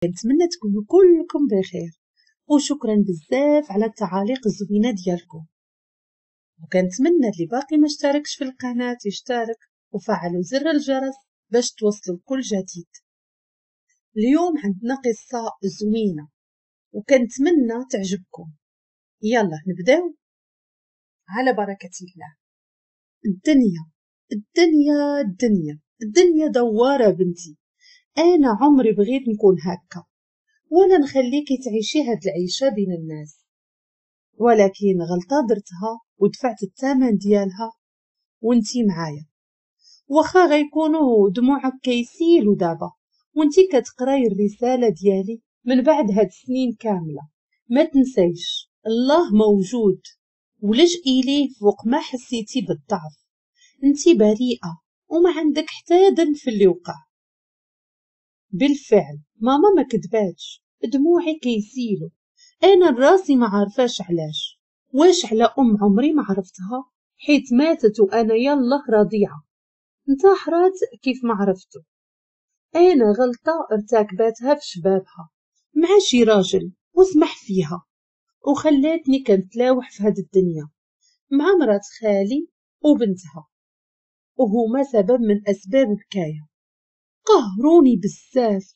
كنتمنى تكونوا كلكم بخير، وشكرا بزاف على التعاليق الزوينة ديالكم. وكنتمنى اللي باقي ما اشتركش في القناة يشترك وفعلوا زر الجرس باش توصلوا كل جديد. اليوم عندنا قصة زوينة وكنتمنى تعجبكم. يلا نبداو على بركة الله. الدنيا الدنيا الدنيا الدنيا دوارة بنتي. أنا عمري بغيت نكون هكا ولا نخليكي تعيشي هاد العيشة بين الناس، ولكن غلطة درتها ودفعت الثمن ديالها وانتي معايا. واخا غيكونوا دموعك كيسيلوا دابا وانتي كتقراي الرسالة ديالي من بعد هاد السنين كاملة، ما تنسيش الله موجود ولجئي ليه فوق ما حسيتي بالضعف. انتي بريئة وما عندك حتى ذنب في اللي وقع. بالفعل ماما ما كذباتش، دموعي كيسيلوا. انا راسي ما عارفاش علاش، واش على ام عمري ما عرفتها حيت ماتت وانا يلا رضيعة، انتحرات كيف ما عرفتو. انا غلطه ارتكبتها في شبابها مع شي راجل وسمح فيها وخلاتني كنتلاوح في هاد الدنيا مع مرات خالي وبنتها، وهما سبب من اسباب بكايا. قهروني بزاف.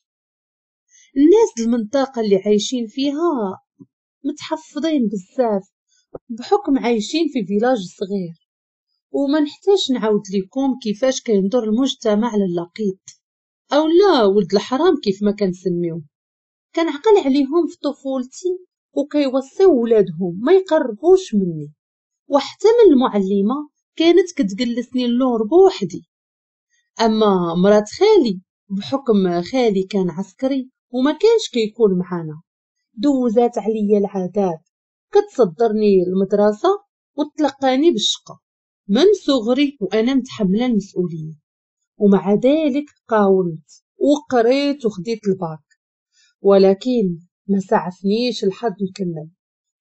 الناس المنطقة اللي عايشين فيها متحفظين بزاف بحكم عايشين في village صغير، وما نحتاج نعاود لكم كيفاش كينظر المجتمع للقيط او لا ولد الحرام كيف ما كنسميوه. كنعقل عليهم في طفولتي وكيوصيو ولادهم ما يقربوش مني، وحتى من المعلمة كانت كتجلسني اللور بوحدي. اما مرات خالي بحكم خالي كان عسكري وما كانش كيكون معانا، دوزات عليا العذاب، كتصدرني المدرسة وتلقاني بالشقه من صغري وانا متحملة المسؤولية. ومع ذلك قاومت وقريت وخديت الباك، ولكن ما سعفنيش الحظ نكمل،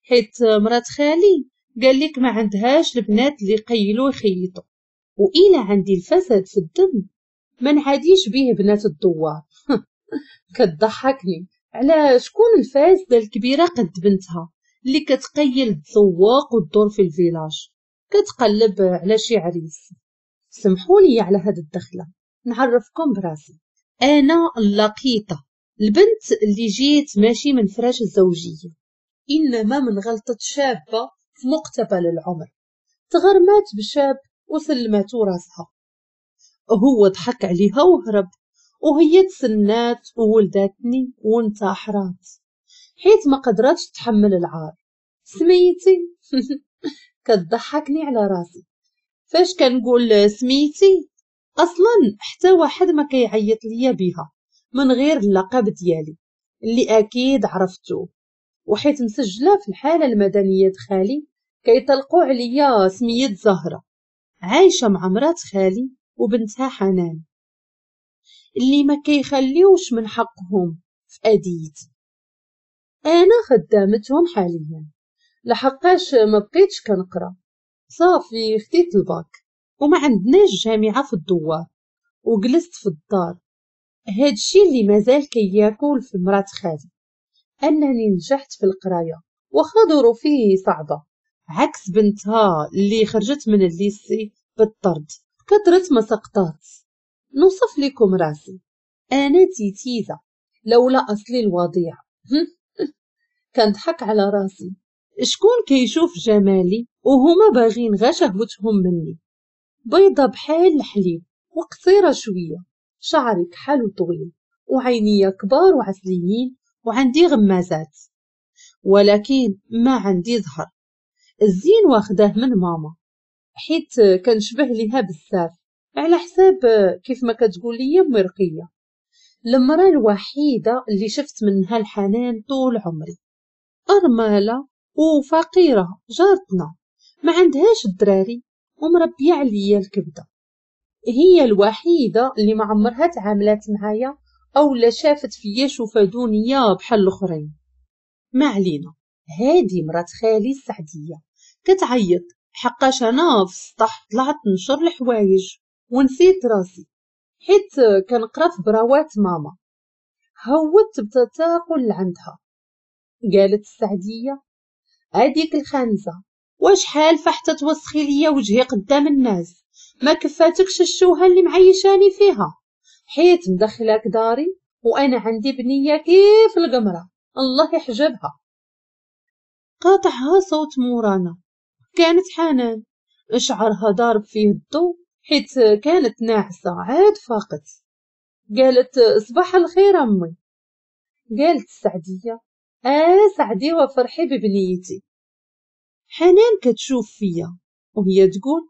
حيت مرات خالي قال لك ما عندهاش البنات اللي قيلوا يخيطوا، وإلا عندي الفساد في الدم ما نعاديش بيه بنات الدوار. كتضحكني على شكون الفاسدة الكبيرة قد بنتها اللي كتقيل تسوق وتدور في ال village كتقلب على شي عريس. سمحوا لي على هاد الدخلة نعرفكم براسي. انا اللقيطه، البنت اللي جيت ماشي من فراش الزوجية، انما من غلطه شابه في مقتبل العمر، تغرمات بشاب وسلماتو راسها. هو ضحك عليها وهرب، وهي تسنات وولداتني وانتحرات حيت ما قدرتش تحمل العار. سميتي كتضحكني على راسي فاش كنقول سميتي، اصلا حتى واحد ما كيعيط ليا بها من غير اللقب ديالي اللي اكيد عرفتوه، وحيت مسجله في الحالة المدنية خالي كيطلقوا عليا سميه زهره. عايشه مع مرات خالي وبنتها حنان اللي ما كيخليوش من حقهم في أديتي. انا خدامتهم حاليا لحقاش ما بقيتش كنقرا، صافي خديت الباك وما عندناش جامعه في الدوار وجلست في الدار. هادشي اللي مازال كياكل في مرات خالي انني نجحت في القراية واخا ظروفي صعبة، عكس بنتها اللي خرجت من ال lycée بالطرد كثرت ما سقطات. نوصف لكم راسي، انا تيتيزه لولا اصلي الوضيع. كنضحك على راسي، شكون كيشوف جمالي وهما باغين غا شهوتهم مني. بيضة بحال الحليب وقصيره شوية، شعري كحل وطويل وعينيا كبار وعسليين وعندي غمازات، ولكن ما عندي ظهر. الزين واخداه من ماما حيت كنشبه ليها بزاف، على حساب كيف ما كتقول لي امي رقيه، المراة الوحيدة اللي شفت منها الحنان طول عمري. ارملة وفقيره جارتنا ما عندهاش الدراري ومربيه عليا الكبده، هي الوحيدة اللي ما عمرها تعاملات معايا او لا شافت فيا شوفه دونية بحال الاخرين. ما علينا، هادي مرات خالي السعديه كتعيط حقاش انا في السطح طلعت نشر الحوايج ونسيت راسي حيت كنقرا في براوات ماما. هودت بتثاقل لعندها. قالت السعدية: هاديك الخانزة واش حالفة حتى توسخي ليا وجهي قدام الناس؟ ما كفاتكش الشوهة اللي معيشاني فيها، حيت مدخلاك داري وانا عندي بنية كيف القمرة، الله يحجبها. قاطعها صوت مورانا، كانت حنان، شعرها ضارب فيه الضو حيت كانت ناعسة عاد فاقت. قالت: صباح الخير أمي. قالت السعدية: سعدي وفرحي ببنيتي. حنان كتشوف فيا وهي تقول: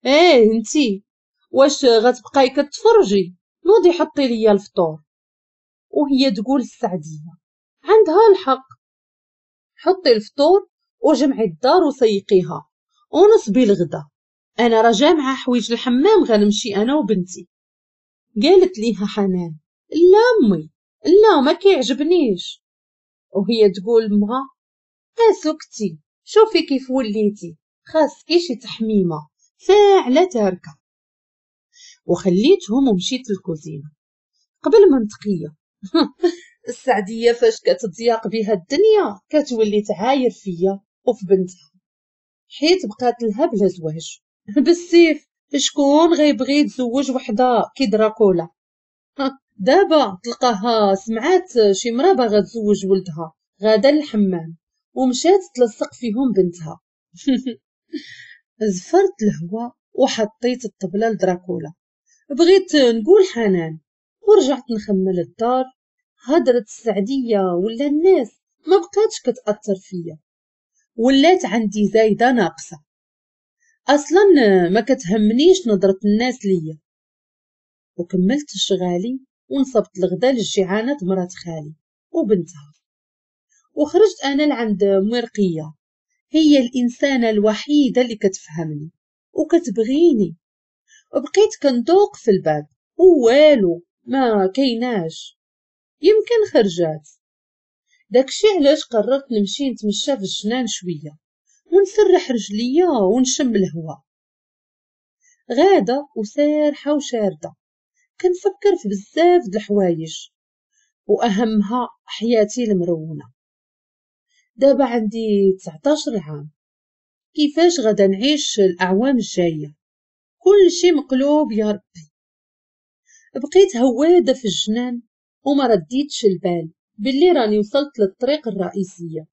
ايه انتي واش غتبقاي كتفرجي؟ نوضي حطي ليا الفطور. وهي تقول السعدية: عندها الحق، حطي الفطور وجمعي الدار وسيقيها ونصبي الغدا، انا راه جامعه حوايج الحمام، غنمشي انا وبنتي. قالت ليها حنان: لا امي لا، ما كيعجبنيش. وهي تقول مها: اسكتي، شوفي كيف وليتي، خاصكي شي تحميمه فاعله تاركه. وخليتهم ومشيت للكوزينه قبل ما نتقيه. السعديه فاش كتضيق بها الدنيا كتولي تعاير فيا وفي بنتها، حيت بقات لها بلا زواج بالسيف. شكون غيبغي يتزوج وحده كي دراكولا؟ دابا تلقاها سمعات شي مرا باغا تزوج ولدها غادا للحمام ومشات تلصق فيهم بنتها. زفرت الهوا وحطيت الطبلة لدراكولا، بغيت نقول حنان، ورجعت نخمل الدار. هضرة السعدية ولا الناس ما بقاتش كتأثر فيا، ولات عندي زايدة ناقصة، أصلا ما كتهمنيش نظرة الناس ليا. وكملت شغالي ونصبت الغدا للجيعانة مرات خالي وبنتها، وخرجت أنا لعند مرقية، هي الإنسانة الوحيدة اللي كتفهمني وكتبغيني. بقيت كندوق في الباب ووالو ما كيناش، يمكن خرجات. داكشي علاش قررت نمشي نتمشى في الجنان شوية ونسرح رجليا ونشم الهوا. غاده وسارحه وشارده كنفكر في بزاف د الحوايج، واهمها حياتي المرونة. دابا عندي 19 عام، كيفاش غادا نعيش الاعوام الجاية؟ كل شي مقلوب يا ربي. بقيت هواده في الجنان وما رديتش البال باللي راني وصلت للطريق الرئيسية،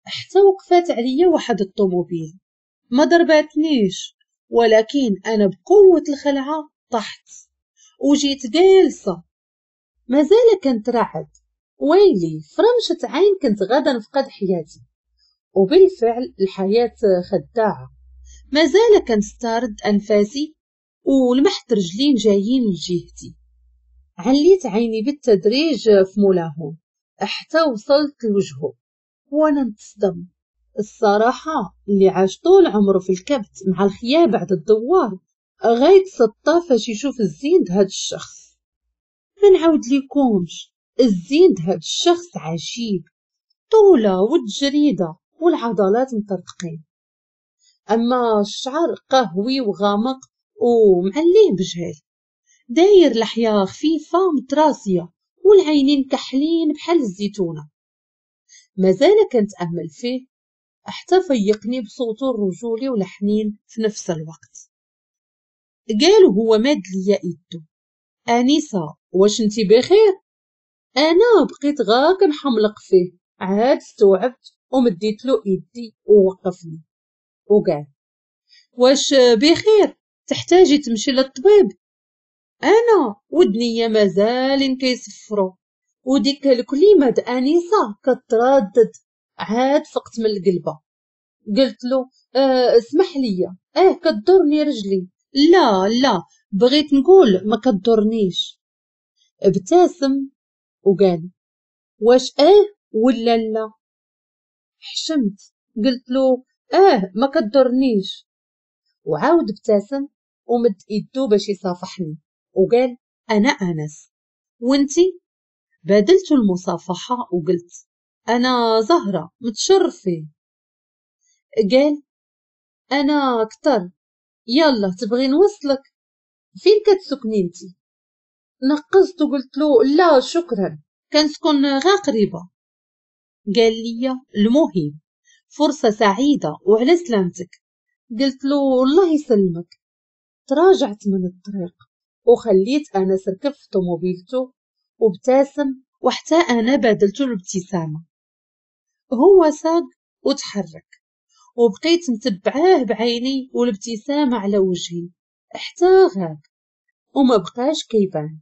حتى وقفات عليا واحد الطوموبيل. ما ضرباتنيش، ولكن انا بقوة الخلعة طحت وجيت جالسة مازال كنترعد. ويلي فرمشة عين كنت غادا نفقد حياتي. وبالفعل الحياة خداعة، مازال كنسترد انفاسي ولمحت رجلين جايين لجهتي. عليت عيني بالتدريج في مولاهم حتى وصلت لوجهه وانا نتصدم. الصراحة اللي عاش طول عمره في الكبت مع الخياب بعد الدوار غيتسطى فاش يشوف الزين د هاد الشخص. ما نعاود ليكمش، الزين د هاد الشخص عجيب، طولة والجريدة والعضلات مطرطقين، اما الشعر قهوي وغامق ومعليه بجهل، داير لحية خفيفة متراسية والعينين كحلين بحال الزيتونة. مازال كنتأمل فيه حتى فيقني بصوته الرجولي والحنين في نفس الوقت. قال وهو ماد ليا ايدو: انسة واش انتي بخير؟ انا بقيت غا كنحملق فيه، عاد استوعبت ومديت له ايدي ووقفني وقال: واش بخير؟ تحتاجي تمشي للطبيب؟ انا ودنيا مازالين كيصفروا وديك الكلمة د انسه كتردد. عاد فقت من القلبه، قلت له: اسمح لي، كضرني رجلي. لا لا، بغيت نقول ما كضرنيش. ابتسم وقال: واش ولا لا؟ حشمت، قلت له: ما كضرنيش. وعاود ابتسم ومد ايدو باش يصافحني وقال: انا انس، وانتي؟ بادلت المصافحة وقلت: انا زهره، متشرفين. قال: انا اكثر، يلا تبغي نوصلك؟ فين كتسكني انتي؟ نقزت وقلت له: لا شكرا، كنسكن غا قريبه. قال لي المهم فرصة سعيدة وعلى سلامتك. قلت له الله يسلمك. تراجعت من الطريق وخليت انس ركب في طوموبيلته وابتسم، وحتى انا بادلته الابتسامة. هو ساق وتحرك وبقيت متبعاه بعيني والابتسامة على وجهي حتى غاب وما بقاش كيبان.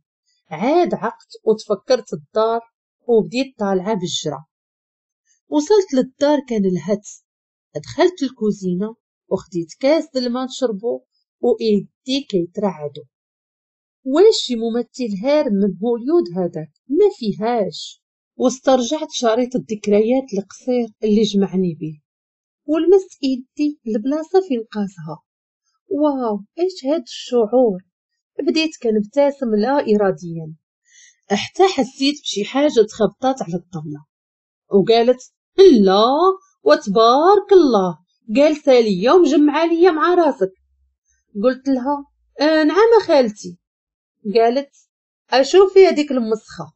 عاد عقت وتفكرت الدار وبديت طالعه بالجرة. وصلت للدار كان الهت. دخلت الكوزينة وخديت كاس د الماء نشربو وايدي كيترعدو. واش شي ممثل هارب من هوليود هذاك؟ ما فيهاش. واسترجعت شريط الذكريات القصير اللي جمعني به ولمست ايدي البلاصة فين قاسها. واو، ايش هاد الشعور! بديت كنبتسم لا اراديا حتى حسيت بشي حاجة تخبطات على الطبلة وقالت لا وتبارك الله، جالسة ليا ومجمعه ليا مع راسك. قلت لها نعم خالتي. قالت اشوفي هذيك المسخه،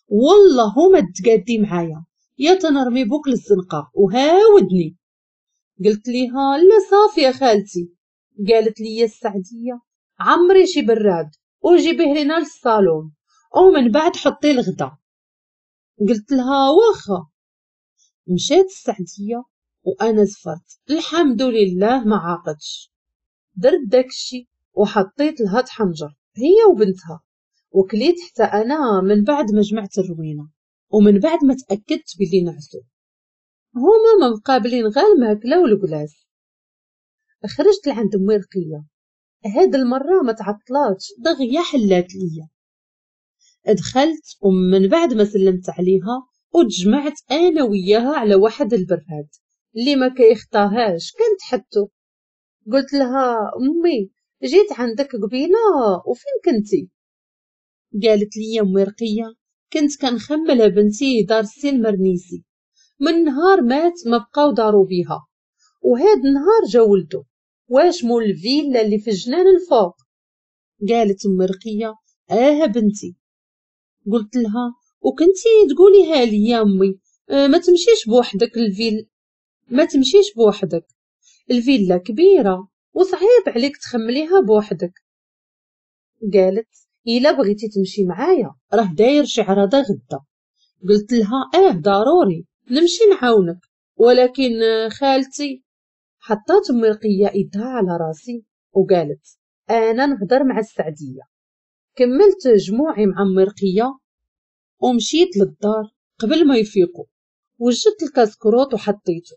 والله هما تقادي معايا يا تنرمي بوك للزنقه وهاودني. قلت ليها لا صافي يا خالتي. قالت لي السعديه عمري شي براد وجيبيه لنا للصالون ومن بعد حطي الغدا. قلت لها واخا. مشات السعديه وانا زفرت، الحمد لله ما عاقتش. درت داكشي وحطيت لها تحنجر هي وبنتها، وكليت حتى انا من بعد ما جمعت الروينه ومن بعد ما تاكدت بلي نعسو. هما ما مقابلين غير الماكلة والكلاس. خرجت لعند امي رقيه، هاد المرة ما تعطلاتش، دغيا حلات ليا. دخلت ومن بعد ما سلمت عليها وتجمعت انا وياها على واحد البراد اللي ما كيخطاهاش كنت حطو. قلت لها امي جيت عندك قبيلة وفين كنتي؟ قالت لي امي رقيه كنت كنخمل بنتي دار السي المرنيسي، من نهار مات ما بقاو دارو بيها، وهاد النهار جا ولدو واش مول الفيلا اللي في الجنان الفوق. قالت امي رقيه اه بنتي. قلت لها وكنتي تقوليها لي يا امي ما تمشيش بوحدك الفيلا، ما تمشيش بوحدك، الفيلا كبيرة وصعيب عليك تخمليها بوحدك. قالت الا بغيتي تمشي معايا راه داير شي عراضه غدا. قلت لها اه ضروري نمشي نعاونك، ولكن خالتي. حطات امي رقيه ايدها على راسي وقالت انا نهضر مع السعديه. كملت جموعي مع امي رقيه ومشيت للدار قبل ما يفيقوا. وجدت الكاسكروط وحطيته،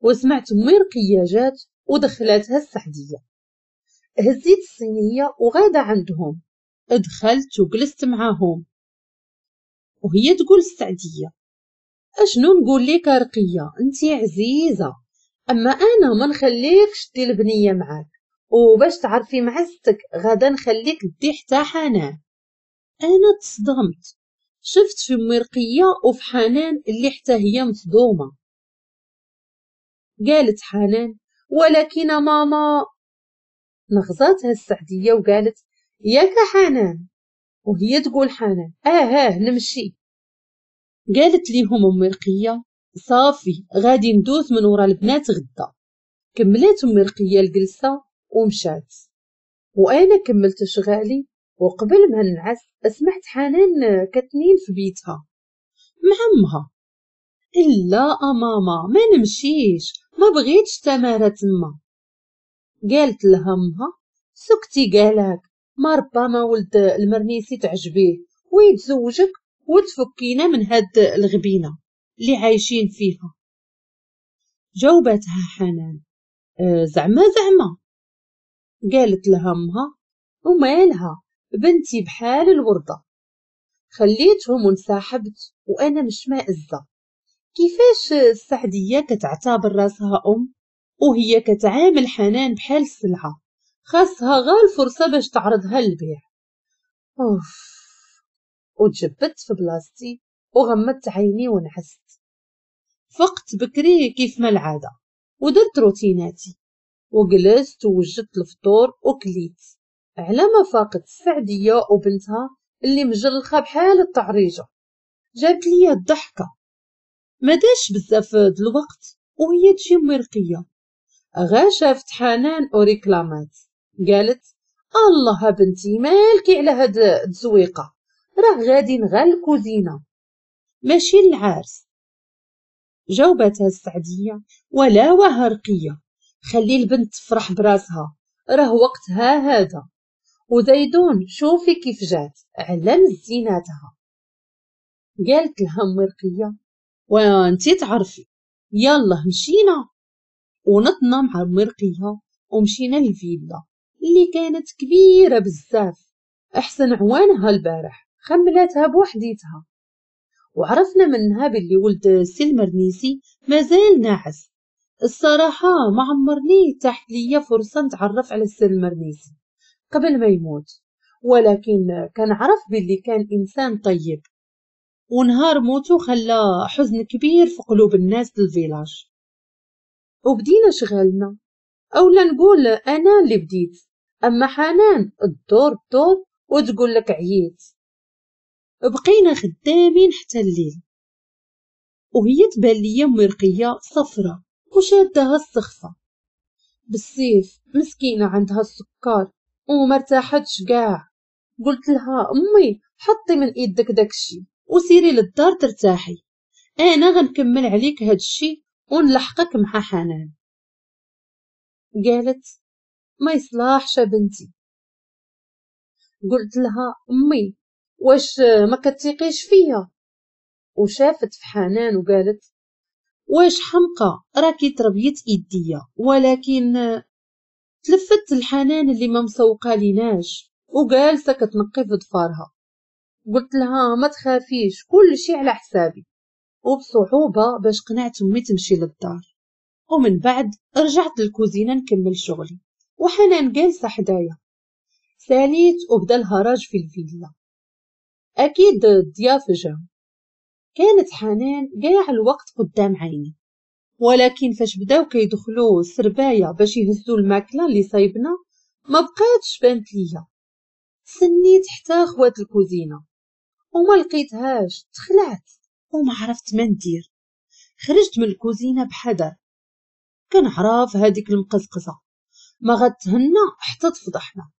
وسمعت امي رقيه جات ودخلاتها السعديه. هزيت الصينية وغاده عندهم. دخلت وجلست معاهم وهي تقول السعديه اشنو نقول لك رقيه، انتي عزيزه، اما انا ما نخليكش دي البنية معاك، وباش تعرفي معزتك غادا نخليك دي حتى حنان. انا تصدمت، شفت في امي رقيه وفي حنان اللي حتى هي مصدومة. قالت حنان ولكن ماما. نغزاتها السعديه وقالت ياك حنان، وهي تقول حنان اه نمشي. قالت ليهم امي رقيه صافي غادي ندوز من ورا البنات غدا. كملات امي رقيه الجلسة ومشات، وانا كملت شغالي. وقبل ما نعس سمعت حنان كتنين في بيتها مع امها. لا ماما ما نمشيش، ما بغيتش تمارة تما. قالت لها امها سكتي، قالك ما ربما ولد المرنيسي تعجبيه ويتزوجك وتفكينا من هاد الغبينه اللي عايشين فيها. جاوبتها حنان زعما زعما. قالت لها امها ومالها بنتي بحال الورده. خليتهم وانسحبت وانا مش مائزه. كيفاش السعديه كتعتبر راسها ام وهي كتعامل حنان بحال السلعة، خاصها غير الفرصة باش تعرضها للبيع. اوف. وتجبدت في بلاصتي وغمضت عيني ونعست. فقت بكري كيف ما العادة ودرت روتيناتي وجلست ووجدت الفطور وكليت. على ما فاقت السعديه وبنتها اللي مجلخه بحال الطعريجه. جابت لي الضحكة. ما داش بزاف د الوقت وهي تجي امي رقيه، غا شافت حنان وريكلامات قالت الله بنتي مالكي على هاد التزويقه، راه غادي غا الكوزينة ماشي العرس. جاوبتها السعديه ولا وها رقيه، خلي البنت تفرح براسها راه وقتها هذا، وزيدون شوفي كيف جات على مزيناتها. قالت لها امي رقيه وانتي تعرفي، يلا مشينا. ونطنا مع امي رقيه ومشينا للفيلا اللي كانت كبيرة بزاف، احسن عوانها البارح خملاتها بوحديتها. وعرفنا منها باللي ولد سي المرنيسي مازال ناعس. الصراحة ما عمرني تاحت ليا فرصة نتعرف على السي المرنيسي قبل ما يموت، ولكن كنعرف باللي كان انسان طيب، ونهار موتو خلى حزن كبير في قلوب الناس لل village. وبدينا شغالنا، اولا نقول انا اللي بديت، اما حنان الدور الدور وتقول لك عييت. بقينا خدامين حتى الليل، وهي تبان ليا امي رقيه صفرة وشادها السخفه بالسيف، مسكينه عندها السكر وما ارتاحتش كاع. قلت لها امي حطي من ايدك داكشي وسيري للدار ترتاحي، انا غنكمل عليك هادشي ونلحقك مع حنان. قالت ما يصلحش بنتي. قلت لها امي واش ما كتثقيش فيا؟ وشافت في حنان وقالت واش حمقى راكي تربيت ايديا. ولكن تلفت الحنان اللي ما مسوقه ليناش وجالسه كتنقي في ضفارها. قلت لها ما تخافيش كل شيء على حسابي. وبصعوبه باش قنعت امي تمشي للدار. ومن بعد رجعت للكوزينه نكمل شغلي وحنان جالسة حدايا. ساليت وبدا الهراج في الفيلا، اكيد الضياف جاو. كانت حنان كاع الوقت قدام عيني، ولكن فاش بداو كيدخلوا السربايه باش يهزوا الماكلة اللي صايبنا ما بقاتش بانت ليا. سنيت حتى خوات الكوزينة وما لقيتهاش، تخلعت وما عرفت ما ندير. خرجت من الكوزينة بحذر، كنعرف هذيك المقزقزه ما غتهنى حتى تفضحنا.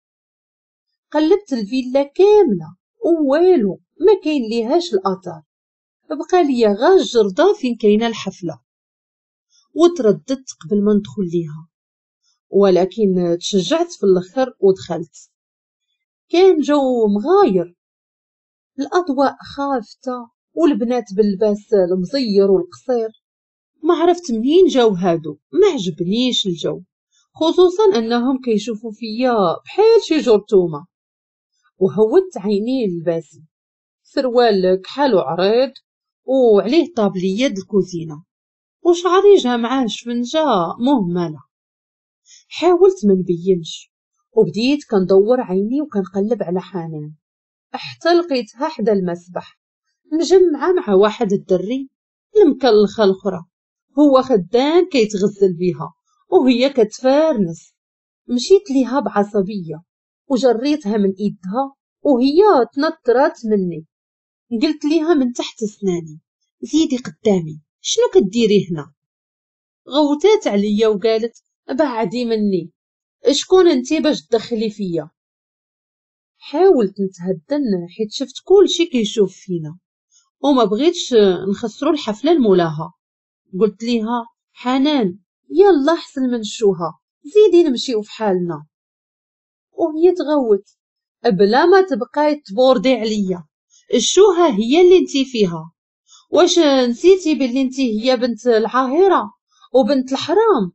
قلبت الفيلا كاملة ووالو ما كاين ليهاش الاثار، بقى ليا غا الجرده فين كاينه الحفلة. وترددت قبل ما ندخل ليها، ولكن تشجعت في الاخر ودخلت. كان جو مغاير، الاضواء خافته والبنات باللباس المزير والقصير. ما عرفت منين جاو هادو، ما عجبنيش الجو، خصوصا انهم كيشوفوا فيا بحال شي جرثومة. وهودت عيني لباسي، سروال كحال وعريض وعليه طابليه د الكوزينة، وشعري جا معاه شفنجه مهملة. حاولت ما نبينش وبديت كندور عيني وكنقلب على حنان حتى لقيتها حدا المسبح مجمعة مع واحد الدري المكلخه الاخرى، هو خدام كيتغزل بيها وهي كتفارنس. مشيت ليها بعصبيه وجريتها من ايدها وهي تنطرات مني. قلت ليها من تحت اسناني زيدي قدامي، شنو كديري هنا؟ غوتات عليا وقالت بعدي مني، شكون انتي باش تدخلي فيا؟ حاولت نتهدن حيت شفت كل شي كيشوف فينا وما بغيتش نخسروا الحفلة لمولاها. قلت ليها حنان يلا حسن من الشوها، زيدي نمشيو في حالنا. وهي تغوت بلا ما تبقاي تبوردي عليا، الشوها هي اللي انتي فيها، واش نسيتي باللي انتي هي بنت العاهره وبنت الحرام؟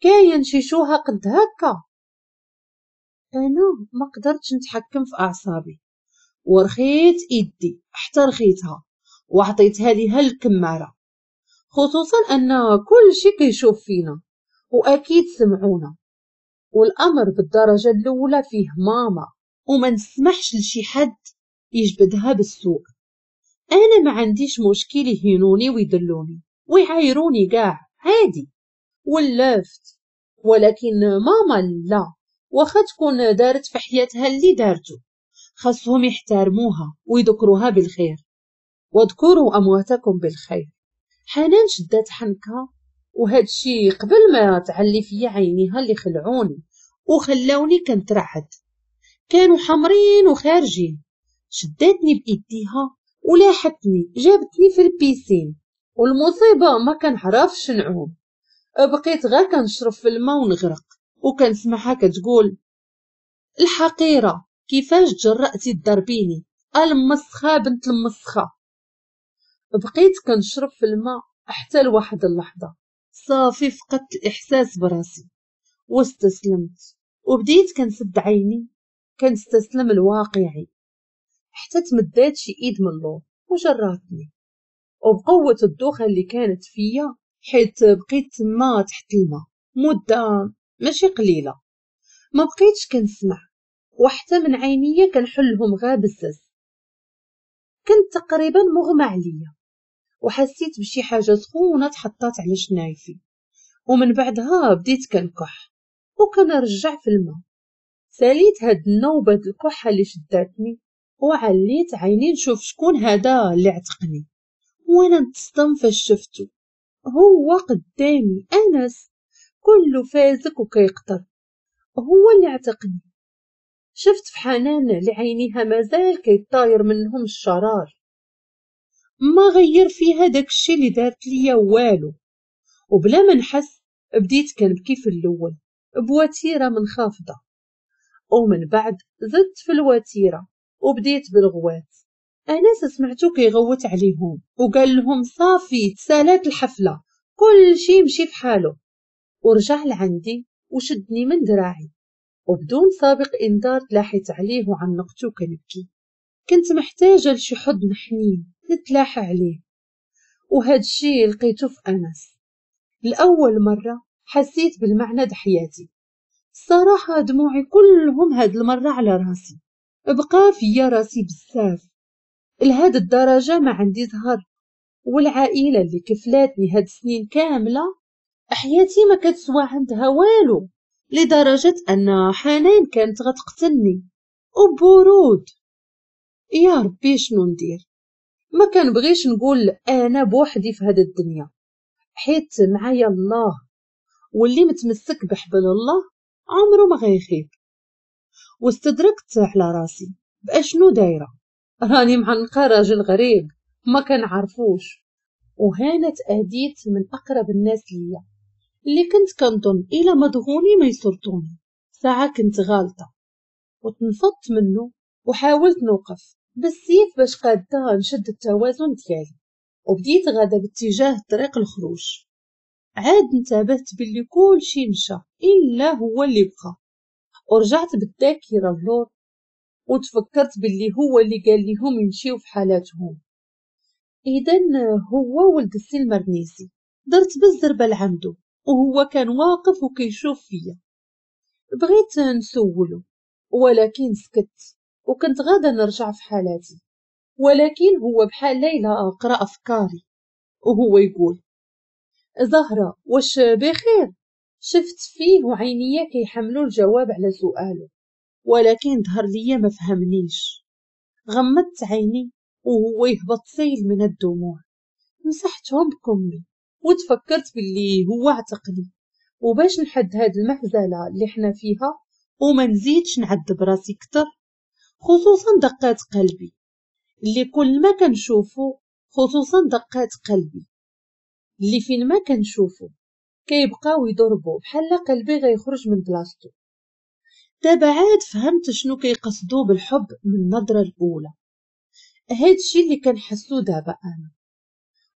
كاين شي شوها قد هكا؟ انا ما قدرتش نتحكم في اعصابي ورخيت ايدي حتى رخيتها وعطيتها ليها الكماره، خصوصا ان كل شي كيشوف فينا واكيد سمعونا، والامر بالدرجة الاولى فيه ماما وما نسمحش لشي حد يجبدها بالسوء. انا ما عنديش مشكل يهينوني ويدلوني ويعايروني كاع عادي ولفت، ولكن ماما لا، واخا تكون دارت في حياتها اللي دارته خاصهم يحترموها ويذكروها بالخير. واذكروا أمواتكم بالخير. حنان شدات حنكها، وهاد الشي قبل ما تعلي فيا عينيها اللي خلعوني وخلاوني كنترعد، كانوا حمرين وخارجين. شداتني بإيديها ولاحتني، جابتني في ال piscine، والمصيبة ما كنعرفش نعوم، بقيت غير كنشرب في الماء ونغرق، وكنسمعها كتقول الحقيرة كيفاش تجرأتي تضربيني المسخة بنت المسخة. بقيت كنشرب في الماء حتى لواحد اللحظة صافي فقدت الإحساس براسي واستسلمت، وبديت كنسد عيني كنستسلم الواقعي، حتى تمدات شي ايد من اللور وجراتني، وبقوة الدوخة اللي كانت فيا حيت بقيت تما تحت الماء مدة ماشي قليلة، ما بقيتش كنسمع، وحتى من عينيا كنحلهم غا بزز. كنت تقريبا مغمى عليا، وحسيت بشي حاجة سخونة تحطات على شنايفي، ومن بعدها بديت كنكح وكنرجع في الماء. ساليت هاد النوبة الكحة اللي شداتني وعليت عيني نشوف شكون هذا اللي عتقني، وانا نتصدم فاش شفتو هو قدامي، انس كله فازك وكيقطر، هو اللي عتقني. شفت في حنان اللي عينيها مازال كيطاير منهم الشرار، ما غير فيها داكشي اللي دارت ليا والو. وبلا ما نحس بديت كنبكي في الاول بوتيره منخفضة، ومن بعد زدت في الوتيره وبديت بالغوات. انس سمعتو كيغوت عليهم وقال لهم صافي تسالات الحفلة، كل شي يمشي في حاله. ورجع لعندي وشدني من دراعي، وبدون سابق انذار تلاحيت عليه وعنقته كنبكي. كنت محتاجه لشي حضن حنين نتلاحى عليه، وهاد الشي لقيته في انس. لاول مرة حسيت بالمعنى د حياتي الصراحة، دموعي كلهم هاد المرة على راسي، بقى فيا راسي بزاف لهاد الدرجة. ما عندي زهر، والعائلة اللي كفلاتني هاد السنين كاملة حياتي ما كتسوى عندها والو، لدرجة ان حنان كانت غتقتلني وبرود. يا ربي شنو ندير؟ ما كنبغيش نقول انا بوحدي في هاد الدنيا، حيت معايا الله، واللي متمسك بحبل الله عمره ما غيخيب. واستدركت على راسي باشنو دايرة، راني معنقه راجل غريب ما كنعرفوش، وهانا تأديت من اقرب الناس ليا اللي كنت كنظن الى مضغوني ما يسرطوني. ساعة كنت غالطه، وتنفضت منه وحاولت نوقف بالسيف باش قاده نشد التوازن ديالي، وبديت غاده باتجاه طريق الخروج. عاد انتبهت باللي كل شي مشى الا هو اللي بقى، ورجعت بالذاكرة اللور وتفكرت باللي هو اللي قال لهم يمشيو في حالاتهم. اذا هو ولد السي المرنيسي. درت بالزربه لعندو وهو كان واقف وكيشوف فيا، بغيت نسولو ولكن سكت، وكنت غادا نرجع في حالاتي، ولكن هو بحال ليلى قرا افكاري وهو يقول زهرة واش بخير؟ شفت فيه وعينيا كيحملوا الجواب على سؤاله، ولكن ظهر ليا ما فهمنيش. غمضت عيني وهو يهبط سيل من الدموع، مسحتهم بكمي وتفكرت باللي هو اعتقني، وباش نحد هاد المهزلة اللي حنا فيها وما نزيدش نعذب راسي كتر، خصوصا دقات قلبي اللي كل ما كنشوفو، خصوصا دقات قلبي اللي فين ما كنشوفو كيبقاو يضربو بحال قلبي غيخرج من بلاصتو. دابا عاد فهمت شنو كيقصدو بالحب من النظرة الأولى، هادشي اللي كنحسو دابا أنا،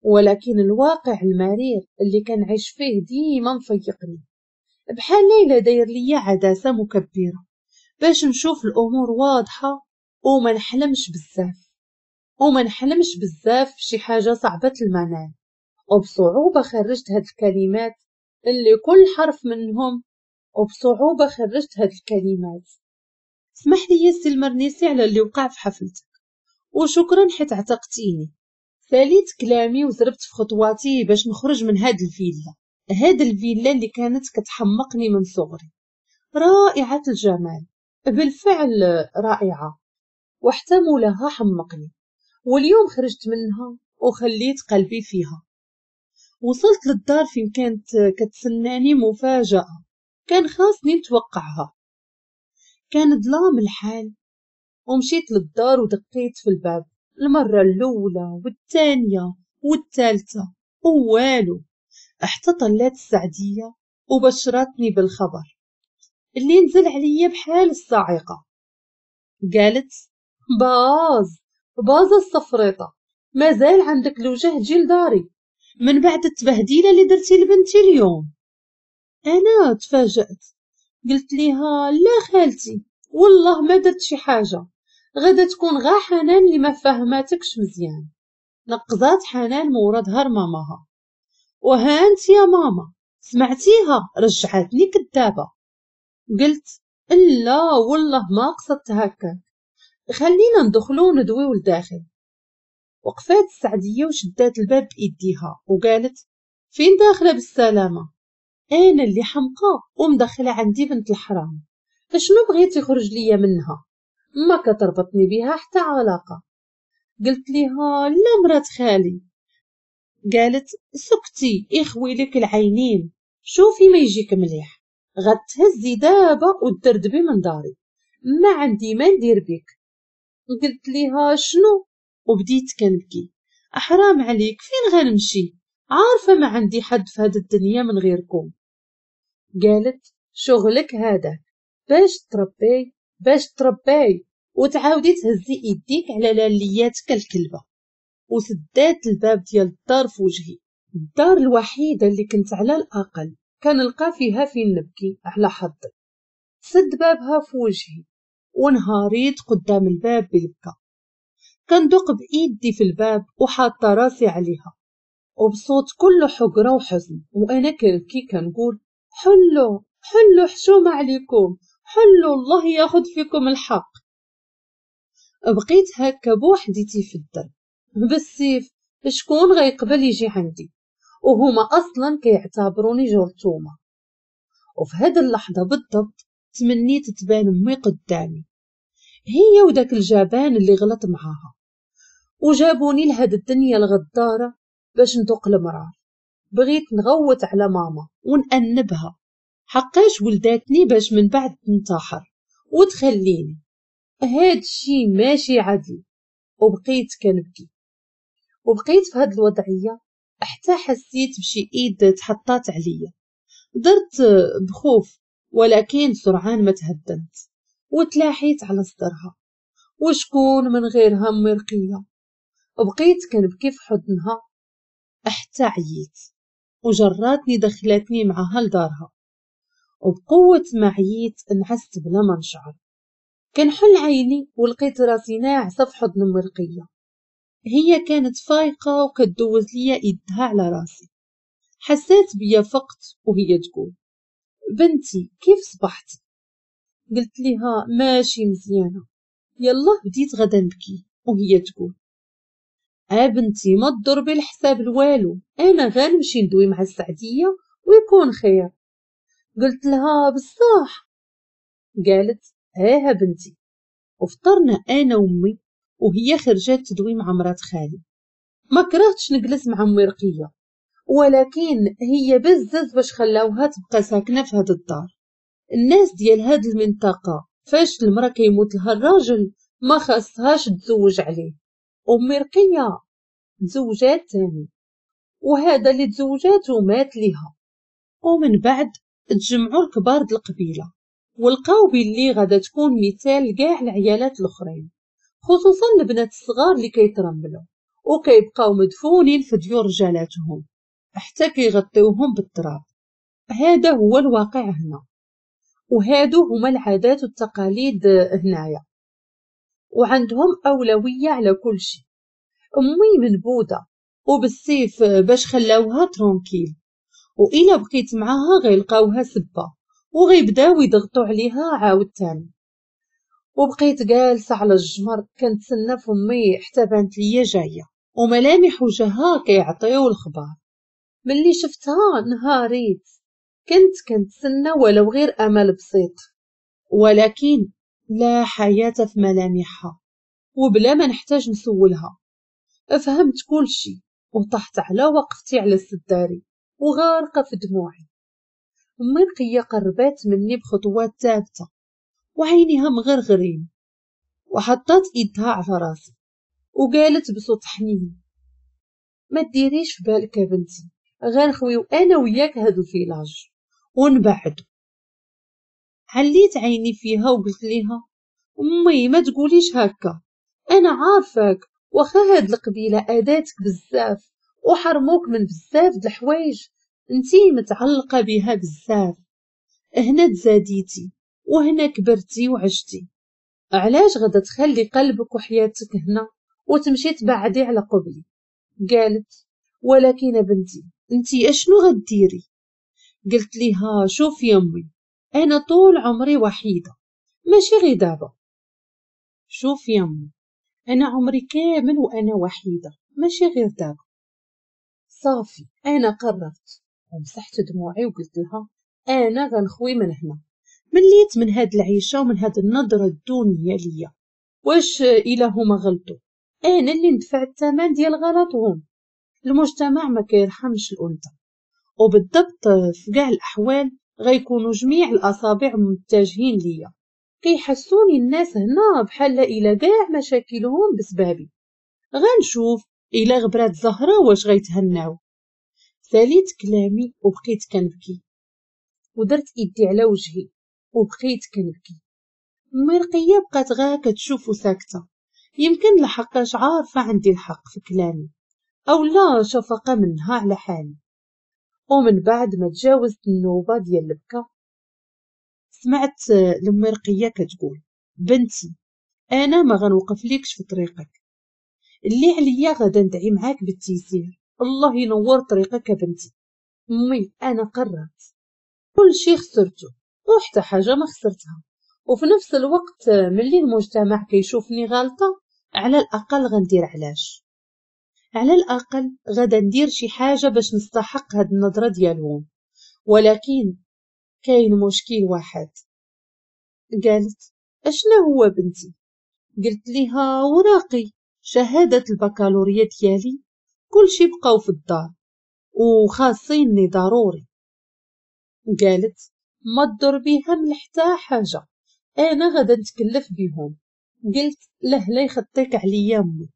ولكن الواقع المرير اللي كنعيش فيه ديما مفيقني، بحال ليلى داير ليا عدسة مكبرة باش نشوف الأمور واضحة وما نحلمش بزاف، وما نحلمش بزاف شي حاجة صعبة المنال. وبصعوبة خرجت هاد الكلمات اللي كل حرف منهم، وبصعوبة خرجت هاد الكلمات. اسمح لي يا سي المرنيسي على اللي وقع في حفلتك، وشكرا حيت عتقتيني. ساليت كلامي وزربت في خطواتي باش نخرج من هاد الفيلا، هاد الفيلا اللي كانت كتحمقني من صغري، رائعة الجمال بالفعل رائعة، وحتى مولاها حمقني، واليوم خرجت منها وخليت قلبي فيها. وصلت للدار فين كانت كتسناني مفاجأة كان خاصني نتوقعها. كان ظلام الحال، ومشيت للدار ودقيت في الباب المرة الأولى والثانية والثالثة ووالو، حتى طلات السعدية وبشرتني بالخبر اللي نزل عليا بحال الصاعقة. قالت باز باز الصفريطة، مازال عندك الوجه تجي لداري من بعد التبهديلة اللي درتي لبنتي اليوم. أنا تفاجأت، قلت ليها لا خالتي والله ما درت شي حاجة، غدا تكون غا حنان اللي ما فهماتكش مزيان. نقزات حنان مورا ظهر ماماها، وها انت يا ماما سمعتيها رجعتني كدابة. قلت لا والله ما قصدت هكا، خلينا ندخلو وندويو لداخل. وقفات السعدية وشدات الباب بإيديها وقالت فين داخلة بالسلامة؟ أنا اللي حمقى ومدخلة عندي بنت الحرام، شنو بغيت يخرج ليا منها؟ ما كتربطني بها حتى علاقة. قلت ليها لا مرات خالي. قالت سكتي اخوي لك العينين، شوفي ما يجيك مليح، غتهزي دابا وتدردبي من داري، ما عندي ما ندير بك. قلت ليها شنو؟ وبديت كنبكي، احرام عليك فين غنمشي؟ عارفة ما عندي حد في هاد الدنيا من غيركم. قالت شغلك هذا باش تربي باش تربي وتعاودي تهزي ايديك على لالياتك الكلبة. وسدات الباب ديال الدار في وجهي. الدار الوحيدة اللي كنت على الأقل كنلقى فيها فين نبكي على حظي، سد بابها في وجهي ونهاريت قدام الباب بالبكا، كندق بإيدي في الباب وحاطة راسي عليها وبصوت كله حقرة وحزن، وأنا كنبكي كنقول حلو حلو حشومة عليكم، حلو الله ياخد فيكم الحق. بقيت هكا بوحديتي في الدرب بالسيف، شكون غيقبل يجي عندي وهما أصلا كيعتبروني جرثومة. وفي هاد اللحظة بالضبط تمنيت تبان أمي قدامي، هي وداك الجبان اللي غلط معاها وجابوني لهاد الدنيا الغدارة باش ندوق المرار. بغيت نغوت على ماما ونأنبها حقاش ولداتني باش من بعد تنتحر وتخليني، هاد الشي ماشي عدل. وبقيت كنبكي وبقيت في هاد الوضعية حتى حسيت بشي ايد تحطات عليا. درت بخوف ولكن سرعان ما تهدنت وتلاحيت على صدرها، وشكون من غيرها أمي رقية. بقيت كنبكي في حضنها حتى عييت وجراتني دخلتني معها لدارها، وبقوة ما عييت نعست بلا ما نشعر. كنحل عيني ولقيت راسي ناعسة في حضن أمي رقية. هي كانت فايقة وكتدوز ليا ايدها على راسي. حسيت بيا فقت وهي تقول بنتي كيف صبحتي؟ قلت لها ماشي مزيانة، يلا بديت غدا نبكي. وهي تقول بنتي ما تضربي الحساب الوالو، انا غنمشي ندوي مع السعدية ويكون خير. قلت لها بصح؟ قالت اه بنتي. وفطرنا انا وامي وهي خرجت تدوي مع مرات خالي. ما كرهتش نجلس مع امي رقية، ولكن هي بزز باش خلاوها تبقى ساكنة في هاد الدار. الناس ديال هاد المنطقة فاش المرأة كيموت لها الراجل ما خاصهاش تزوج عليه. امي رقية تزوجات تاني، وهذا اللي تزوجات ومات ليها. ومن بعد تجمعوا الكبار د القبيلة ولقاو باللي غادا تكون مثال كاع العيالات الاخرين، خصوصا البنات الصغار اللي كيترملوا وكيبقاو مدفونين في ديور رجالاتهم حتى كيغطيوهم بالتراب. هذا هو الواقع هنا، وهادو هما العادات والتقاليد هنايا، وعندهم أولوية على كل شيء. أمي منبوذة وبالسيف باش خلاوها tranquille، وإلا بقيت معاها غيلقاوها سبة وغيبداو يضغطوا عليها عاود تاني. وبقيت جالسة على الجمر كنتسنى في أمي حتى بانت ليا جاية وملامح وجهها كيعطيو الخبار. ملي شفتها نهاريت، كنت كنتسنى ولو غير أمل بسيط، ولكن لا حياة في ملامحها، وبلا ما نحتاج نسولها فهمت كل شي وطحت على وقفتي على السداري وغارقة في دموعي. أمي رقية قربات مني بخطوات ثابتة وعينيها مغرغرين، وحطت ايدها على راسي وقالت بصوت حنين: ما ديريش في بالك يا بنتي، غنخويو انا وياك هاد ال village ونبعدو. عليت عيني فيها وقلت ليها: امي ما تقوليش هكا، انا عارفاك واخا هاد القبيلة اداتك بزاف وحرموك من بزاف د الحوايج، انتي متعلقه بها بزاف، هنا تزاديتي وهنا كبرتي وعشتي، علاش غادا تخلي قلبك وحياتك هنا وتمشي تبعدي على قبلي؟ قالت: ولكن بنتي انتي اشنو غديري؟ قلت ليها: شوفي يا امي، انا طول عمري وحيده، ماشي غير دابا. شوفي يا امي، انا عمري كامل وانا وحيده، ماشي غير دابا. صافي انا قررت، ومسحت دموعي وقلت لها: انا غنخوي من هنا، مليت من هاد العيشة ومن هاد النظرة الدونيه ليا. واش الا هما غلطوا انا اللي ندفع الثمن ديال غلطهم؟ المجتمع ما كيرحمش الانثى، وبالضبط في كاع الاحوال غيكونوا جميع الاصابع متجهين ليا. كيحسوني الناس هنا بحال الا كاع مشاكلهم بسبابي. غنشوف الا غبرات زهره واش غيتهناو. ساليت كلامي وبقيت كنبكي، ودرت ايدي على وجهي وبقيت كنبكي. أمي رقية بقات غا كتشوف وساكتة، يمكن لحقاش عارفة عندي الحق في كلامي أو لا شفقة منها على حالي. ومن بعد ما تجاوزت النوبة ديال البكا سمعت لأمي رقية كتقول: بنتي أنا ما غنوقف ليكش في طريقك، اللي عليا غادا ندعي معاك بالتيسير، الله ينور طريقك يا بنتي. أمي أنا قررت، كل شي خسرته وحتى حاجة ما خسرتها، وفي نفس الوقت ملي المجتمع كيشوفني غلطة على الأقل غندير علاش، على الأقل غادا ندير شي حاجة باش نستحق هاد النظرة ديالهم. ولكن كاين مشكل واحد. قالت: اشنا هو بنتي؟ قلت ليها: وراقي، شهادة البكالوريا ديالي، كلشي بقاو في الدار وخاصيني ضروري. قالت: ما تضر بيها من حتى حاجة، انا غادا نتكلف بيهم. قلت: له لا يخطيك عليا امي.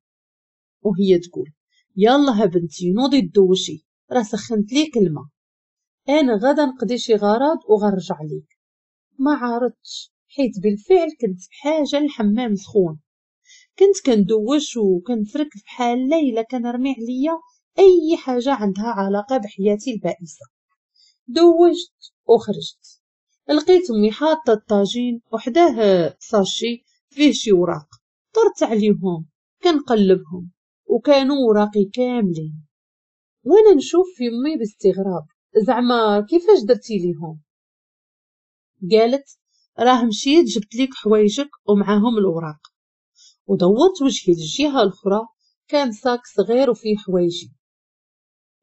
وهي تقول: يلا بنتي نوضي تدوشي، راه سخنت ليك الماء، انا غادا نقضي شي غرض وغنرجع ليك. ما عارضتش حيت بالفعل كنت بحاجة للحمام سخون، كنت كندوش وكنفرك بحال ليلى كنرمي عليا اي حاجة عندها علاقة بحياتي البائسة. دوشت وخرجت، لقيت امي حاطه الطاجين وحداه sachet فيه شي وراق، طرت عليهم كنقلبهم وكانوا وراقي كاملين. وانا نشوف في امي باستغراب، زعما كيفاش درتي ليهم؟ قالت: راه مشيت جبت ليك حوايجك ومعاهم الوراق. ودورت وجهي للجهة الاخرى، كان sac صغير وفيه حوايجي.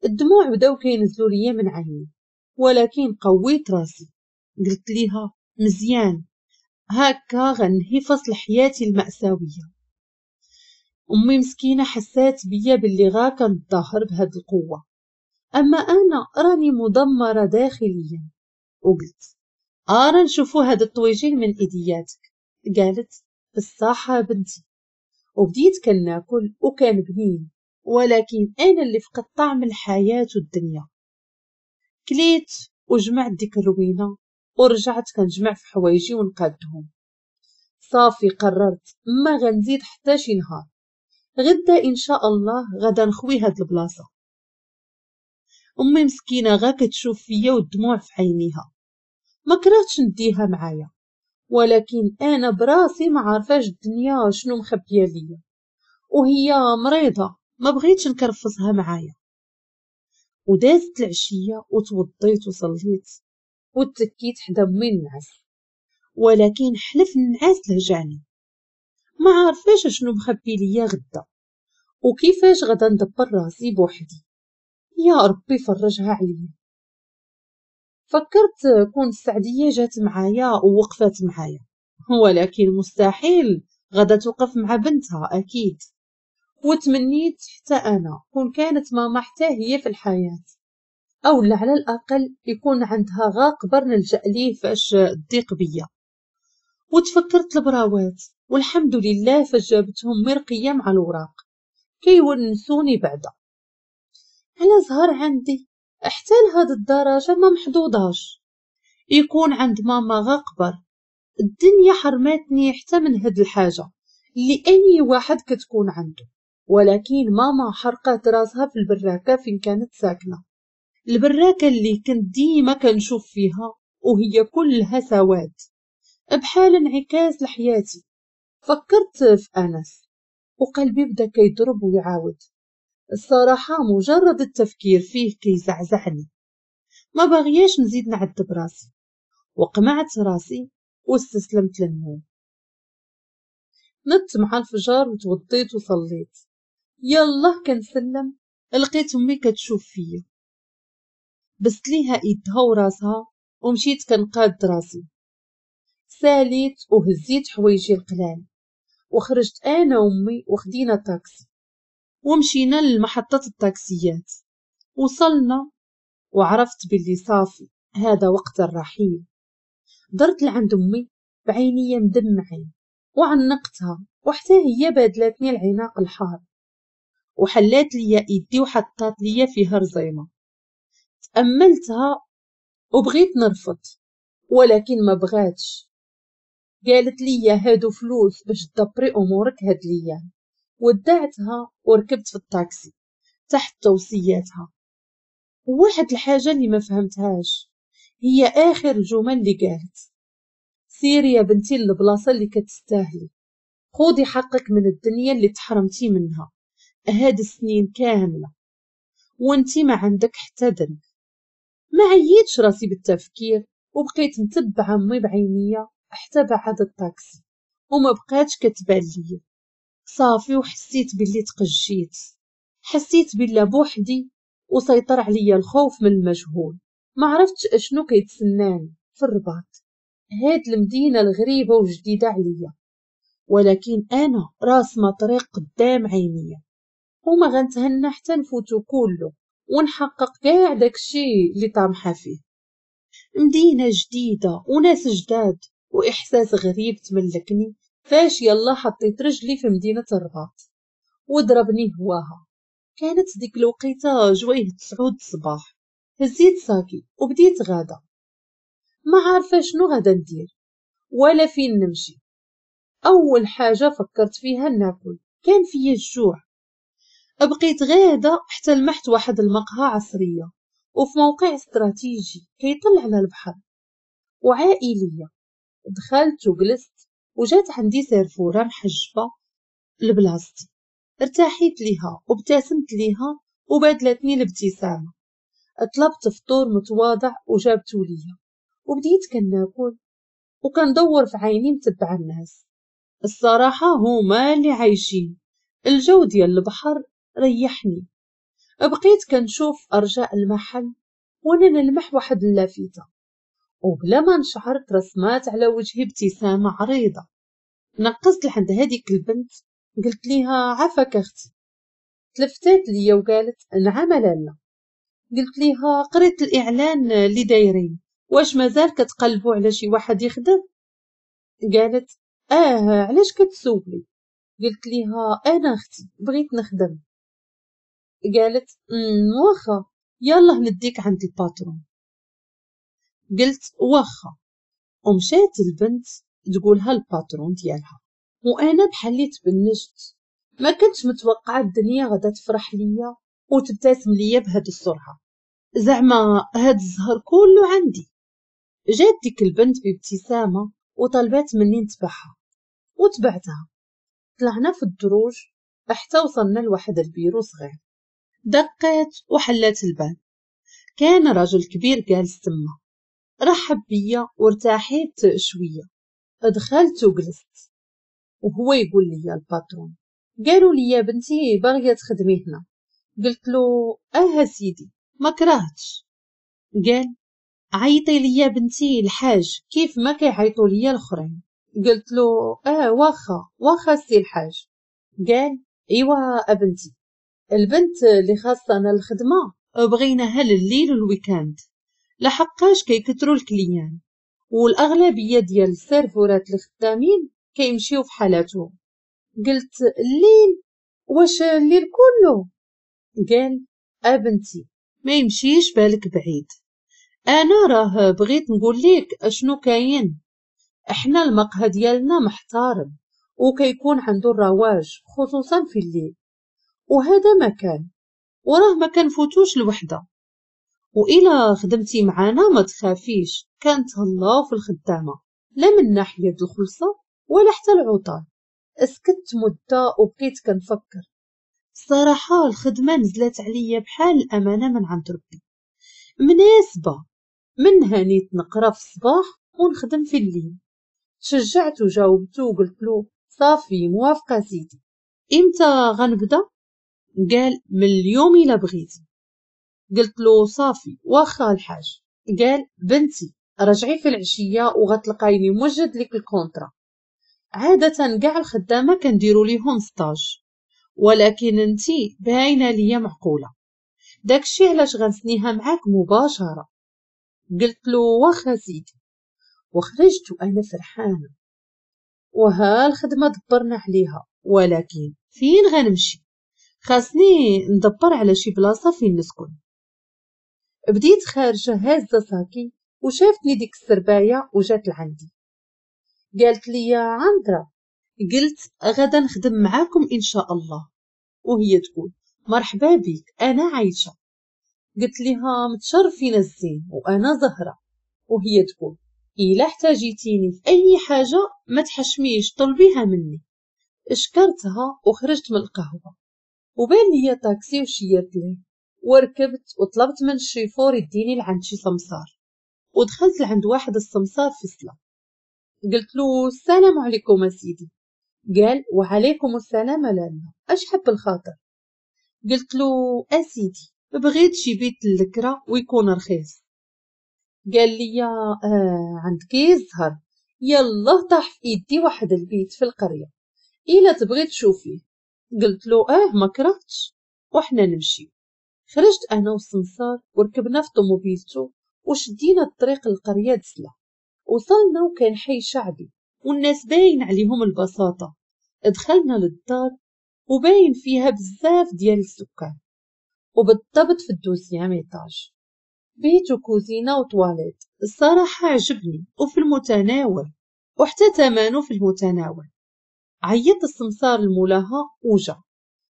الدموع بداو كينزلوا ليا من عيني، ولكن قويت راسي. قلت ليها: مزيان، هكا غنهي فصل حياتي المأساوية. أمي مسكينة حسات بيا باللي غا كنتظاهر بهاد القوة، أما أنا راني مدمرة داخليا. وقلت: أرا نشوفو هاد الطويجين من إيدياتك. قالت: بالصحة بنتي. وبديت كناكل وكان بنين، ولكن أنا اللي فقدت طعم الحياة والدنيا. كليت وجمعت ديك الروينة ورجعت كنجمع في حوايجي ونقادهم. صافي قررت ما غنزيد حتى شي نهار، غدا ان شاء الله غدا نخوي هاد البلاصة. امي مسكينه غا كتشوف فيا والدموع في عينيها، ما كرهتش نديها معايا، ولكن انا براسي ما عارفاش الدنيا شنو مخبيه ليا، وهي مريضه ما بغيتش نكرفصها معايا. ودازت العشية وتوضيت وصليت وتكيت حدا امي نعس، ولكن حلف النعاس لهجاني، ما عارفاش شنو مخبي ليا غدا وكيفاش غدا ندبر راسي بوحدي. يا ربي فرجها عليا. فكرت كون السعديه جات معايا ووقفات معايا، ولكن مستحيل غدا توقف مع بنتها اكيد. وتمنيت حتى انا كون كانت ماما حتى هي في الحياة، او لا على الاقل يكون عندها غا قبر نلجأ ليه فاش تضيق بيا. وتفكرت البراوات والحمد لله فاش جابتهم مرقيه مع الوراق كيونسوني بعدا. على زهر عندي حتى لهاد الدرجة ما محظوظاش يكون عند ماما غا قبر. الدنيا حرمتني حتى من هاد الحاجة اللي اي واحد كتكون عنده، ولكن ماما حرقات راسها في البراكه فين كانت ساكنة، البراكه اللي كنت ديما كنشوف فيها وهي كلها سواد بحال انعكاس لحياتي. فكرت في انس وقلبي بدا كيضرب ويعاود. الصراحة مجرد التفكير فيه كيزعزعني، ما باغياش نزيد نعذب راسي. وقمعت راسي واستسلمت للنوم. نضت مع الفجر وتوضيت وصليت. يلا كنسلم لقيت امي كتشوف فيا، بست ليها ايدها وراسها ومشيت كنقاد راسي. ساليت وهزيت حوايجي القلال وخرجت انا وامي وخدينا طاكسي ومشينا لمحطة الطاكسيات. وصلنا وعرفت باللي صافي هذا وقت الرحيل. درت لعند امي بعينيا مدمعين وعنقتها، وحتى هي بادلتني العناق الحار وحلات ليا ايدي وحطات ليا فيها رزيمه. تأملتها وبغيت نرفض ولكن ما بغاتش. قالت لي هادو فلوس باش تدبري امورك هاد الايام. ودعتها وركبت في الطاكسي تحت توصياتها. وواحد الحاجة اللي ما فهمتهاش هي اخر الجمل اللي قالت: سيري يا بنتي للبلاصه اللي كتستاهلي، خودي حقك من الدنيا اللي تحرمتي منها هاد السنين كاملة وانتي ما عندك حتى ذنب. ما عييتش راسي بالتفكير وبقيت متبعة امي بعينيا حتى بعد الطاكسي وما بقاتش كتبان ليا. صافي وحسيت باللي تقجيت، حسيت باللي بوحدي وسيطر عليا الخوف من المجهول. ما عرفتش اشنو كيتسناني في الرباط، هاد المدينة الغريبة وجديدة عليا، ولكن انا راسمه طريق قدام عينيا وما غنتهنى حتى نفوتو كله ونحقق كاع داكشي اللي طامحه فيه. مدينة جديدة وناس جداد واحساس غريب تملكني فاش يلا حطيت رجلي في مدينة الرباط وضربني هواها. كانت ديك الوقيته جوية 9 الصباح. هزيت ساكي وبديت غاده، ما عارفه شنو غادا ندير ولا فين نمشي. اول حاجة فكرت فيها ناكل، كان فيا الجوع. بقيت غاده حتى لمحت واحد المقهى عصرية وفي موقع استراتيجي كيطل على البحر وعائليه. دخلت وجلست وجات عندي serveuse محجبة لبلاصتي. ارتاحيت ليها وابتسمت ليها وبادلتني الابتسامة. طلبت فطور متواضع وجابته ليا وبديت كناكل وكندور في عيني متبعة الناس. الصراحة هما اللي عايشين الجو ديال البحر ريحني. بقيت كنشوف ارجاء المحل وانا نلمح واحد اللافتة، وبلا ما نشعر ترسمات على وجهي ابتسامة عريضة. نقزت لعند هذيك البنت قلت ليها عافاك اختي. تلفتات ليا وقالت نعم لالا. قلت ليها قريت الاعلان اللي دايرين، واش مازال كتقلبوا على شي واحد يخدم؟ قالت علاش كتسولي؟ قلت ليها انا اختي بغيت نخدم. قالت واخا يلا نديك عند ال patron. قلت واخا، ومشات البنت تقولها ال patron ديالها. وانا بحال اللي تبنجت، ما كنتش متوقعه الدنيا غادا تفرح ليا وتبتسم ليا بهاد السرعة، زعما هاد الزهر كله عندي. جات ديك البنت بابتسامة وطلبات مني نتبعها وتبعتها. طلعنا في الدروج حتى وصلنا لواحد البيرو صغير. دقات وحلات الباب، كان رجل كبير جالس تما. رحب بيا وارتاحيت شوية. دخلت وجلست وهو يقول لي ال patron، قالوا لي يا بنتي باغية تخدمي هنا؟ قلت له سيدي ما كرهتش. قال عيطي لي يا بنتي الحاج كيف ما كيعيطوا لي الاخرين. قلت له واخا واخا سي الحاج. قال ايوا ابنتي، البنت اللي خاصنا الخدمة بغيناها لليل وال week-end، لحقاش كيكثروا ال clients والاغلبيه ديال السيرفورات اللي خدامين كيمشيو في حالاتهم. قلت الليل؟ واش الليل كله؟ قال ابنتي ما يمشيش بالك بعيد، انا راه بغيت نقول لك اشنو كاين. احنا المقهى ديالنا محترم وكيكون عنده الرواج خصوصا في الليل، وهذا مكان وراه ما كنفوتوش الوحدة، وإلا خدمتي معانا ما تخافيش، كنتهلاو في الخدامة لا من ناحية الخلصة ولا حتى العطال. اسكت مده وبقيت كنفكر. الصراحة الخدمة نزلت عليا بحال الامانة من عند ربي، مناسبة منها نيت نقرا في الصباح ونخدم في الليل. شجعت وجاوبته وقلت له صافي موافقة سيدي، امتى غنبدا؟ قال من اليوم الا بغيتي. قلت له صافي واخا الحاج. قال بنتي رجعي في العشية وغتلقايني موجد لك ال contrat. عادة كاع الخدامة كنديروا ليهم stage، ولكن انتي باينة ليا معقولة، داكشي علاش غنسنيها معاك مباشرة. قلت له واخا سيدي، وخرجت وانا فرحانة. وها الخدمة دبرنا عليها، ولكن فين غنمشي؟ خاصني ندبر على شي بلاصة فين نسكن. بديت خارجه هازه ساكي وشافتني ديك السربايه وجات لعندي، قالت لي يا عندرا. قلت غدا نخدم معاكم ان شاء الله. وهي تقول مرحبا بك انا عايشه. قلت لها متشرفين الزين وانا زهره. وهي تقول الا احتاجيتيني في اي حاجة ما تحشميش طلبيها مني. اشكرتها وخرجت من القهوة، وبان لي طاكسي وشيرت ليه وركبت وطلبت من الشيفور يديني لعند شي سمسار، ودخلت لعند واحد السمسار في سلا. قلت له السلام عليكم سيدي. قال وعليكم السلام لالا، اش حب الخاطر؟ قلت له اسيدي بغيت شي بيت للكرا ويكون رخيص. قال لي عندك الزهر، يلا طاح في ايدي واحد البيت في القرية، الا تبغي تشوفيه. قلت له ما كرهتش، وحنا نمشي. خرجت انا والسمسار وركبنا في طوموبيلتو وشدينا الطريق للقريه دسله. وصلنا وكان حي شعبي والناس باين عليهم البساطة. دخلنا للدار وباين فيها بزاف ديال السكان، وبالضبط في ال deuxième étage، بيت وكوزينه وطواليت. الصراحة عجبني وفي المتناول، وحتى ثمنه في المتناول. عيط السمسار لمولاها وجا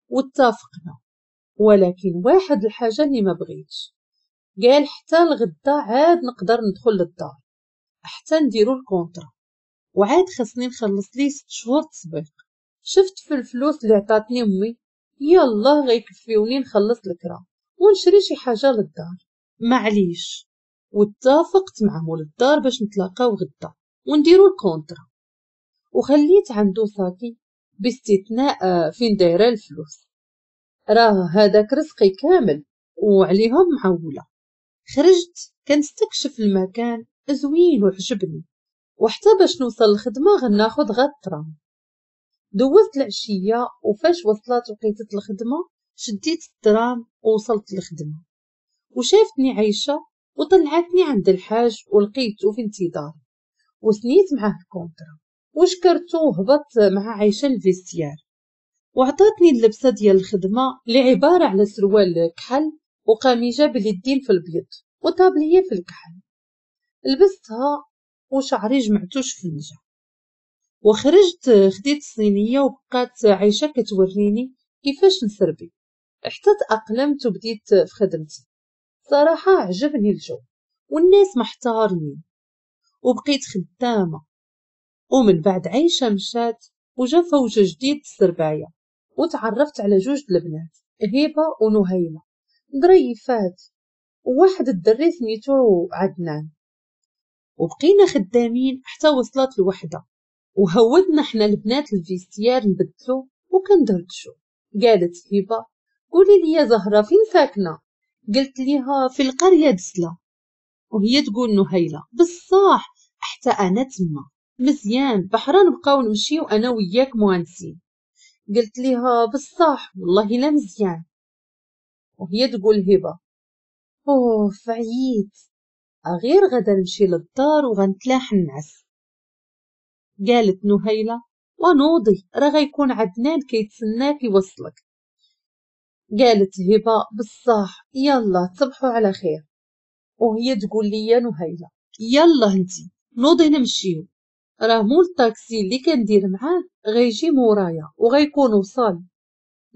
واتفقنا، ولكن واحد الحاجة اللي ما بغيتش، قال حتى الغدا عاد نقدر ندخل للدار حتى نديرو ال contrat، وعاد خصني نخلص ليه 6 شهور تسبيق. شفت في الفلوس اللي عطاتني امي يلا غيكفيوني نخلص الكرا ونشري شي حاجة للدار، معليش. واتفقت مع مول الدار باش نتلاقاو غدا ونديرو ال contrat، وخليت عنده صاكي باستثناء فين دايرة الفلوس، راه هذاك رزقي كامل وعليهم معوله. خرجت كنستكشف المكان زوين وعجبني، وحتى باش نوصل للخدمة غناخد غا الترام. دوزت العشية وفاش وصلت وقيتة الخدمة شديت الترام ووصلت للخدمة، وشافتني عايشه وطلعتني عند الحاج ولقيته في انتظار، وسنيت معاه ال contrat وشكرته وهبطت مع عايشه ال vestiaire، وعطاتني اللبسه ديال الخدمة اللي عبارة على سروال كحل وقميجه باليدين في البيض وطابليه في الكحل. لبستها وشعري جمعتو شفنجه، وخرجت خديت الصينية وبقات عايشه كتوريني كيفاش نسربي حتى تأقلمت وبديت في خدمتي. صراحة عجبني الجو والناس محتارمين، وبقيت خدامه. ومن بعد عايشه مشات وجا فوج جديد السربايه، وتعرفت على جوج البنات هبه ونهيله ظريفات، وواحد الدري سميتو عدنان. وبقينا خدامين حتى وصلت الوحدة، وهودنا حنا البنات ال vestiaire نبدلو وكندردشو. قالت هبه قولي لي يا زهره فين ساكنة؟ قلت ليها في القرية دسله. وهي تقول نهيله بصح حتى انا تما مزيان، بحرا نبقاو نمشيو انا وياك مهندسين. قلت ليها بصح والله لا مزيان. وهي تقول هبه اوف عييت، غير غدا نمشي للدار وغنتلاح النعس. قالت نهيلة ونوضي راه غيكون عدنان كيتسناك يوصلك. قالت هبه بصح يلا تصبحوا على خير. وهي تقول لي يا نهيلة يلا انتي نوضي نمشيو، راه مول الطاكسي اللي كندير معاه غيجي مورايا وغيكون وصل،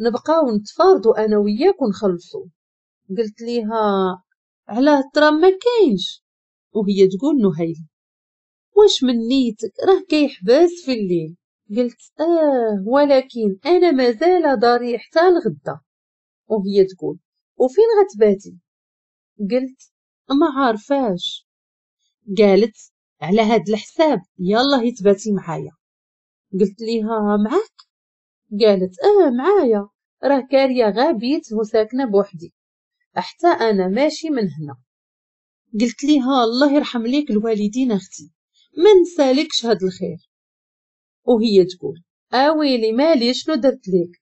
نبقاو نتفارضوا انا وياك ونخلصو. قلت ليها علاه الترام ما كاينش؟ وهي تقول نهيلة واش من نيتك راه كيحبس في الليل. قلت ولكن انا مازال داري حتى الغدا. وهي تقول وفين غتباتي؟ قلت ما عارفاش. قالت على هاد الحساب يلا تباتي معايا. قلت ليها معاك؟ قالت معايا، راه كاريه غابيت وساكنه بوحدي، حتى انا ماشي من هنا. قلت ليها الله يرحم ليك الوالدين اختي، ما نسالكش هاد الخير. وهي تقول اويلي مالي شنو درت ليك؟